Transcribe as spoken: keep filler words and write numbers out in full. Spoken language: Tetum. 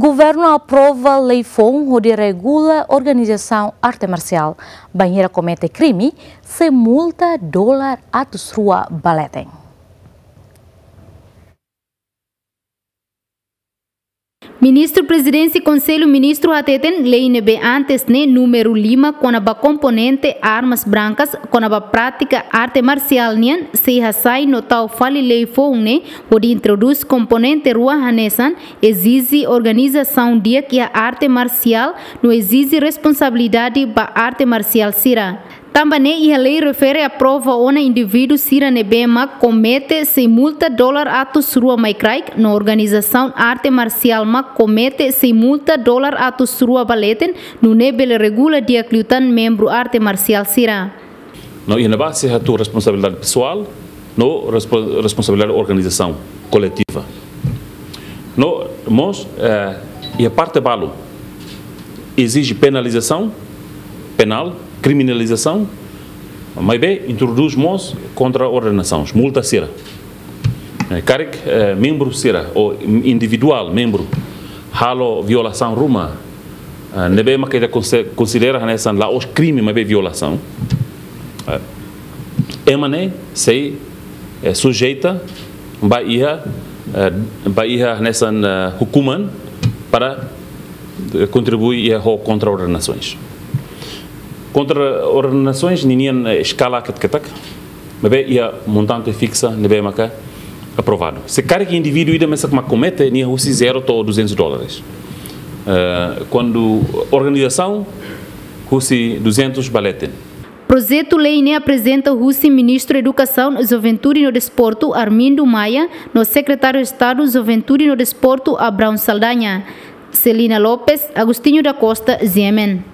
Governu aprova lei foun hodi regula organizasaun arte marsiál. Bainhira komete krime, sei multa dolar atus rua ba leten. Ministru Prezidénsia Konsellu Ministru hateten lei ne'ebé antes ne'e númeru lima kona-ba komponente armas brankas kona-ba prátika arte marsiál nian sei hasai no tau fali lei foun ne'e hodi introdús komponente rua hanesan ezije organizasaun di'ak iha arte marsiál no ezije responsabilidade ba arte marsiál sira. Tanba ne'e iha lei refere aprova ona indivíduu sira ne'ebé mak komete sei multa dolar atus rua mai kraik no organizasaun arte marsiál mak komete sei multa dolar atus rua ba leten, nune'e bele regula di'ak liután membru arte marsiál sira. No iha ne'ebá sei hatuur responsabilidade pesoál no respo-, responsabilidade organizasaun koletiva. No mós, eh, iha parte balu ezije penalizasaun penál, kriminalizasaun, maibé introdús mós kontraordenasaun, multa sira. Eh, karik, eh, membru sira ou individuál membru halo violasaun ruma, eh, ne'ebé mak ita konse-, konsidera hanesan la'ós krime, maibé violasaun. Eh, ema ne'e sei, eh, sujeita ba iha, eh, ba iha hanesan, eh, hukuman para, eh, kontribui iha ho kontraordenasoens. Kontraordenasoens ninian, eh, eskala ketak-ketak, maibé iha montante fiksa ne'ebé maka aprovadu. Se karik indivíduu ida mesak mak komete, nia husi zero to'o duzentos dólares. Eh, kuandu organizasaun, husi duzentos ba leten. Projetu lei ne'e aprezenta husi Ministru Edukasaun, Juventude no Desportu, Armindo Maia, no Sekretáriu Estadu Juventude no Desportu, Abraão Saldanha. Celina Lopes, Agostinho da Costa, G M N.